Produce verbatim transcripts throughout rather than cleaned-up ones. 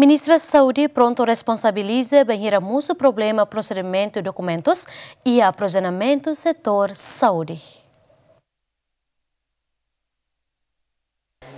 Ministra Saúde prontu responsabiliza bainhira mosu problema prosedimentu dokumentus iha aprovizionamentu setór saúde.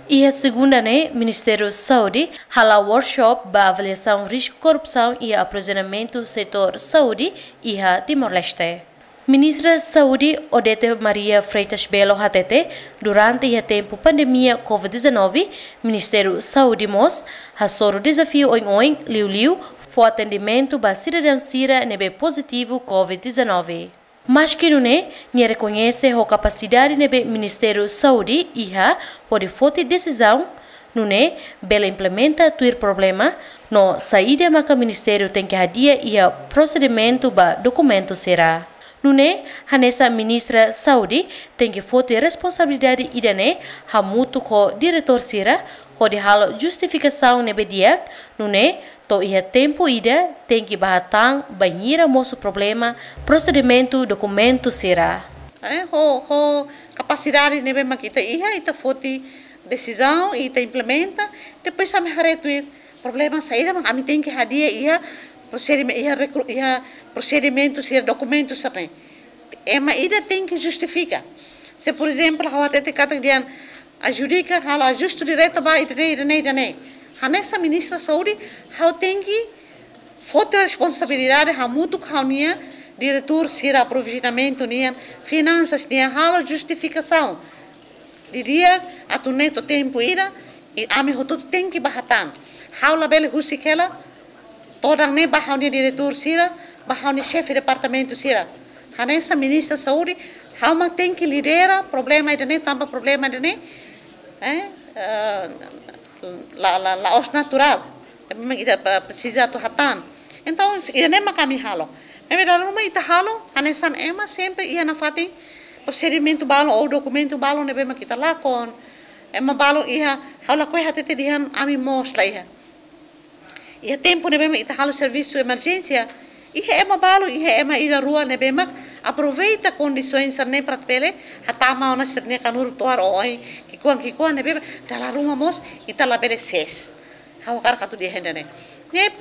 Iha segunda ne'e, Ministériu Saúde hala'o workshop ba avaliasaun risku korrupsaun iha aprovizionamentu setór saúde iha Timor-Leste. Ministra Saúde Odete Maria Freitas Belo hatete, durante iha tempu pandemia covid dezanove, Ministériu Saúde mós hasoru dezafiu oioin, liuliu fó atendimentu ba sidadaun sira ne'ebé pozitivu covid dezanove. Maski nune'e, nia rekoñese ho kapasidade ne'ebé Ministériu Saúde iha hodi foti desizaun, nune'e bele implementa tuir problema no saida maka ministériu tenke hadi'a iha prosedimentu ba dokumentu sira. Nune'e, hanesan Ministra Saúde tenke foti responsabilidade ida-ne'e hamutuk ho diretór sira, hodi halo justifikasaun ne'ebé di'ak, nune'e to'o iha tempu ida tenke bá hatán bainhira mosu problema prosedimentu dokumentu sira. Eh, ho, ho kapasidade ne'ebé mak ita iha, ita foti desizaun, ita implementa, depois ami haree tuir problema saida mak ami tenke hadi'a iha prosedimen-, iha rekru-, iha prosedimentu sira, dokumentu sira-ne'e. Ema ida tenke justifika. Se, por ezemplu, ha'u hatete katak dehan adjudika, halo ajustu direta ba ida-ne'e, ida-ne'e, ida-ne'e. Hanesan Ministra Saúde, ha'u tenke foti responsabilidade hamutuk ho ha'u-nia diretór sira, aprovizionamentu nian, finansas nian, halo justifikasaun. Di'ak, atu nune'e to'o tempu ida, i ami hotu tenke bá hatán. Ha'u labele husik hela, todan ne'e ba ha'u-nia diretór sira, ba ha'u-nia xefe departamentu sira. Hanesan Ministra Saúde, ha'u mak tenke lidera problema ida-ne'e, tanba problema ida-ne'e, eh, eh, la, la, la'ós naturál. Ema ida pa-, presiza atu hatán. Entaun, ida-ne'e mak ami halo. Ne'ebé dala ruma ita halo, hanesan ema sempre iha nafatin prosedimentu balun ou dokumentu balun ne'ebé mak ita lakon. Ema balun iha, ha'u lakohi hatete dehan ami mós la iha. Iha tempu ne'ebé mak ita halo servisu emerjénsia, iha ema balun, iha ema ida rua ne'ebé mak aproveita kondisaun sira-ne'e para bele hatama ona sira-nia kanuru to'ar oioin, ki'ikoan, ki'ikoan ne'ebé mak dala ruma mós ita labele sees. Ha'u hakarak atu dehan ida-ne'e. Ne'e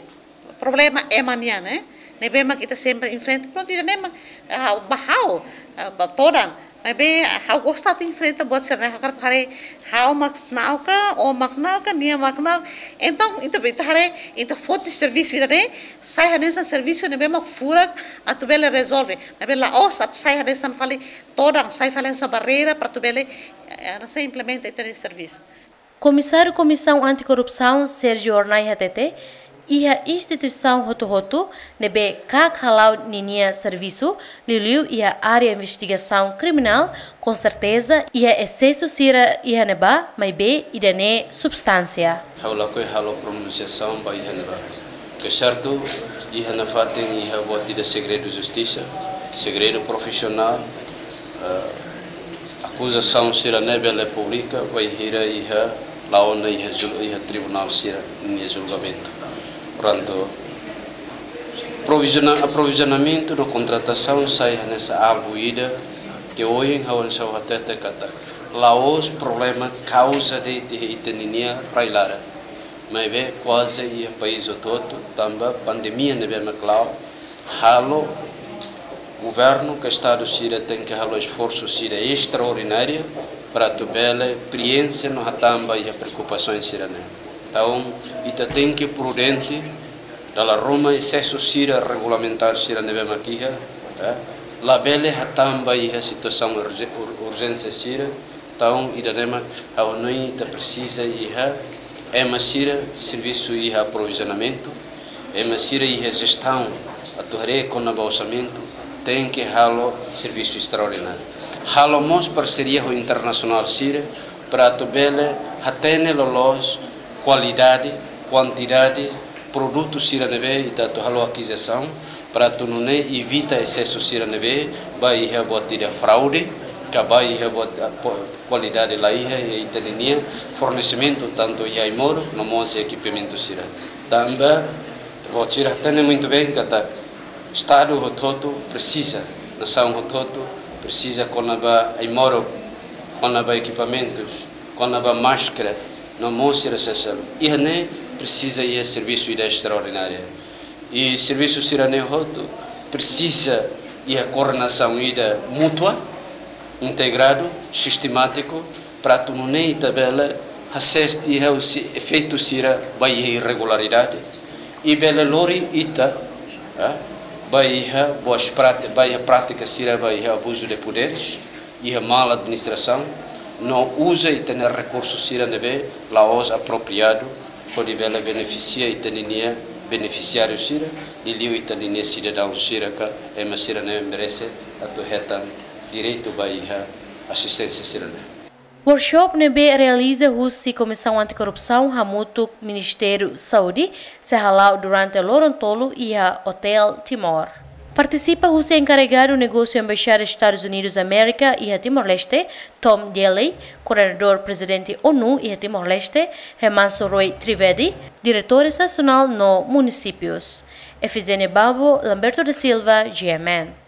problema ema nian, eh? Ne'ebé mak ita sempre enfrenta. Prontu, ida-ne'e mak, ah, ba ha'u, ah, ba todan. Maibé ha'u gosta atu enfrenta buat sira-ne'e, ha'u hakarak haree ha'u mak na'ok ka, ó mak na'ok ka, nia mak na'ok. Entaun, ita be, ita haree, ita foti servisu ida-ne'e, sai hanesan servisu ne'ebé mak furak atu bele rezolve. Maibé la'ós atu sai hanesan fali todan, sai fali hanesan barreira para atu bele, eh, hanesan implementa ita-nia servisu. Komisáriu Komisaun Anti-Korrupsaun, Sérgio Hornai hatete, iha instituisaun hotu-hotu ne'ebé kaak hala'o ninia servisu, liuliu iha área investigasaun kriminál, konserteza iha esesu sira iha ne'ebá, maibé ida-ne'e substánsia. Ha'u lakohi halo pronunsiasaun ba iha ne'ebá. Ke sertu, iha nafatin iha buat ida segredu justisa, segredu profisionál, eh, akuzasaun sira-ne'e bele publika bainhira iha la'o ona iha jul-, iha tribunál sira-nia julgamentu. Prontu, proviziona-, aprovizionamentu no kontratasaun sai hanesan alvu ida ke ohin ha'u hanesan hatete katak la'ós problema kauza de'it iha ita-nia rai-laran. Maibé kuaze iha país hotu-hotu, tanba pandemia ne'ebé mak la'o, halo governu ka estadu sira tenke halo esforsu sira estraordináriu para atu bele prienxe no hatán ba iha preokupasaun sira-ne'e. Entaun, ita tenke prudente, dala ruma esesu sira regulamentár sira ne'ebé mak iha, eh, labele hatán ba iha situasaun urje-, ur-, urjénsia sira, entaun, ida-ne'e mak ha'u hanoin ita presiza iha ema sira servisu iha aprovizionamentu, ema sira iha jestaun, atu haree kona-ba orsamentu, tenke halo servisu estraordináriu. Halo mós parseria ho internasionál sira, para atu bele hatene loloos kualidade, kuantidade, produtu sira ne'ebé ita atu halo akizisaun, para atu nune'e evita esesu sira ne'ebé ba iha buat ida fraude, ka ba iha buat, ah, po-, kualidade la iha iha ita-nia fornesimentu, tantu iha ai-moruk no mós ekipamentu sira. Tanba, ha'u sira hatene muitu bein katak estadu hotu-hotu presiza, nasaun hotu-hotu presiza kona-ba ai-moruk, kona-ba ekipamentus, kona-ba máskara, no mós sira seluk. Iha ne'e, Presiza iha servisu ida estraordinária. I servisu sira-ne'e hotu presiza iha koordenasaun ida mútua, integradu, sistemátiku, para atu nune'e ita bele hasees iha husi efeitu sira ba iha irregularidade. I bele lori ita, ah, ba iha boas práti-, ba iha prátika sira ba iha abuzu de poderes, iha mal administrasaun, no uza ita-nia rekursu sira ne'ebé la'ós apropriadu, hodi bele benefisia ita-nia benefisiáriu sira, liuliu ita-nia sidadaun sira ka ema sira ne'ebé merese atu hetan direitu ba iha asisténsia sira-ne'e. Workshop ne'ebé realiza husi Komisaun Antikorrupsaun hamutuk Ministériu Saúde sei hala'o durante loron tolu iha Hotel Timor. Partisipa husi enkarregadu negósiu Embaixada Estadus Unidus Amérika iha Timor-Leste, Tom Daley, koordenadór prezidente ONU iha Timor-Leste, Remanso Roy Trivedi, diretores nasionál no munisípius. Efigénia Babo, Lamberto da Silva, G M N.